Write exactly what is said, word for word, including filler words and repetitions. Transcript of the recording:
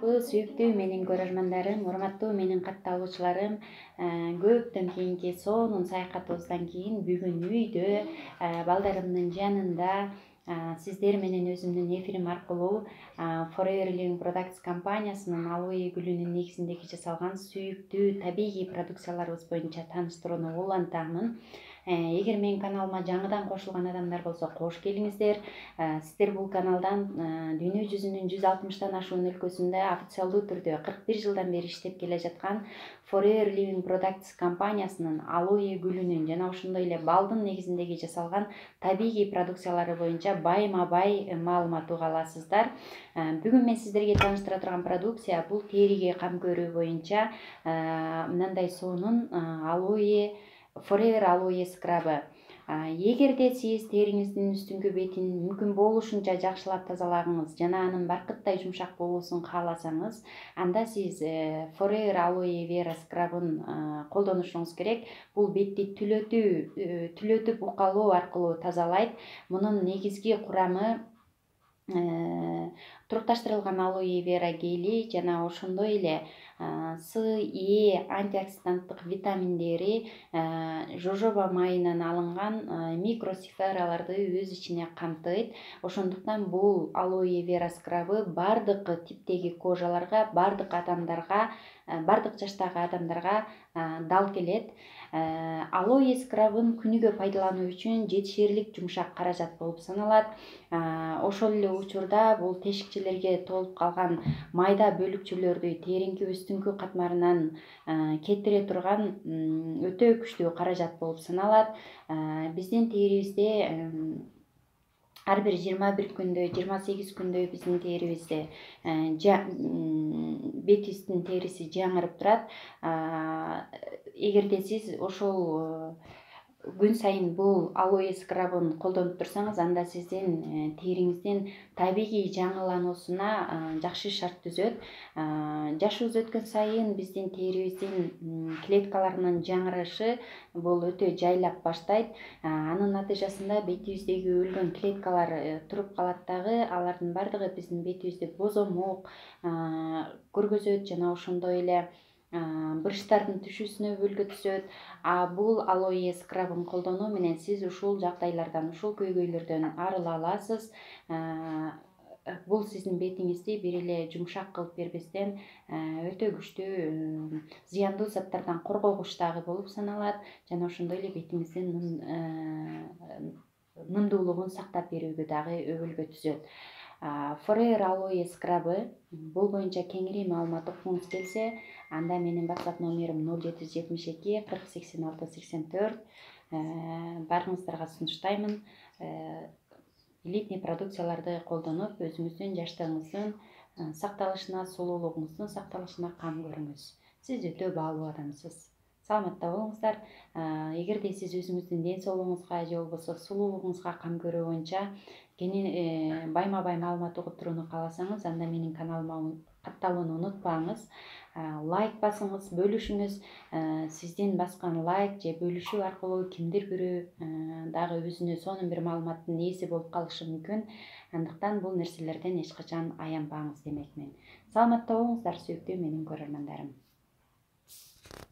саламатсыздарбы, сүйүктүү менин көрөрмандарым, урматтуу менин катталуучуларым. Көптөн кийинки сонун саякатыбыздан кийин бүгүн үйдө балдарымдын жанында сиздер менен өзүмдүн эфирим аркылуу Forever Living Products компаниясынын алоэ гүлүнүн негизиндеги жасалган сүйүктүү табигый продукцияларыбыз боюнча тааныштырууну улантамын. Эгер менин каналыма жаңыдан кошулган адамдар болсо, кош келиңиздер. Сиздер бул каналдан дүйнө жүзүнүн жүз алтымыштан ашуун өлкөсүндө официалдуу түрдө кырк бир жылдан бери иштеп келе жаткан Forever Living Products компаниясынын алоэ гүлүнүн жана ошондой эле балдын негизиндеги жасалган табигый продукциялары боюнча байма бай маалымат уга аласыздар. Бүгүн мен сиздерге тааныштыра турган продукция бул териге кам көрүү боюнча мындай сонун алоэ Forever алоэ скрабы. Эгерде сиз териңиздин үстүңкү бетин мүмкүн болушунча жакшылап тазалагыңыз жана анын баркыттай жумшак болуусун кааласаңыз, анда сиз Forever алоэ вера скрабын колдонушуңуз керек. Бул бетти түлөтүү, түлөтүп укалоо аркылуу тазалайт. Мунун негизги курамы турукташтырылган алоэ вера гели жана ошондой эле С, Е антиоксиданттык витаминдери, жожоба майынан алынган микросифераларды өз ичине камтыйт. Ошондуктан бул алоэ вера скрабы бардык типтеги кожаларга, бардык адамдарга, бардык жаштагы адамдарга дал келет. Алоэ скрабын күнүгө пайдалануу үчүн жетишерлик жумшак каражат болуп саналат. Ошол эле учурда бул тешикчелерге толуп калган майда бөлүкчөлөрдү териңки үстүңкү катмарынан кетире турган өтө күчтүү каражат болуп саналат. Биздин терибизде ар бир жыйырма бир күндө, жыйырма сегиз күндө биздин терибизде бетибиздин териси жаңырып турат. Эгерде сиз ошол күн сайын бул алоэ скрабын колдонуп турсаңыз, анда сиздин териңиздин табигый жаңылануусуна жакшы шарт түзөт. Жашыбыз өткөн сайын биздин терибиздин клеткаларынын жаңырышы бул өтө жайлап баштайт. Анын натыйжасында бетибиздеги өлгөн клеткалар туруп калат дагы, алардын бардыгы биздин бетибизди бозомок көргөзөт жана ошондой эле брыштардын түшүүсүнө бөлгө түзөт. А бул алоэ скрабын колдонуу менен сиз ушул жагдайлардан, ушул көйгөйлөрдөн арыла аласыз. Бул сиздин бетиңизди бир эле жумшак кылып бербестен өтө күчтүү зыяндуу заттардан коргогуч дагы болуп саналат жана ошондой эле бетиңиздин нымдуулугун сактап берүүгө дагы өбөлгө түзөт. Forever алоэ скрабы бул боюнча кеңири маалымат уккуңуз келсе, анда менин WhatsApp номерим ноль жети жүз жетимиш эки кырк сексен алты сексен төрт. Барыңыздарга сунуштаймын. Элитный продукцияларды колдонуп, өзүңүздүн жаштыгыңыздын сакталышына, сулуулугуңуздун сакталышына кам көрүңүз. Сиз өтө баалуу адамсыз. Саламатта болуңуздар. Эгерде сиз өзүңүздүн ден соолугуңузга же болбосо сулуулугуңузга кам көрүү боюнча байма бай маалымат угуп турууну кааласаңыз, анда менин каналыма катталууну унутпаңыз. Лайк басыңыз, бөлүшүңүз. Сиздин баскан лайк же бөлүшүү аркылуу кимдир бирөө дагы өзүнө сонун бир маалыматтын ээси болуп калышы мүмкүн. Андыктан бул нерселерден эч качан аянбаңыз демекмин. Саламатта болуңуздар, сүйүктүү менин көрөрмандарым.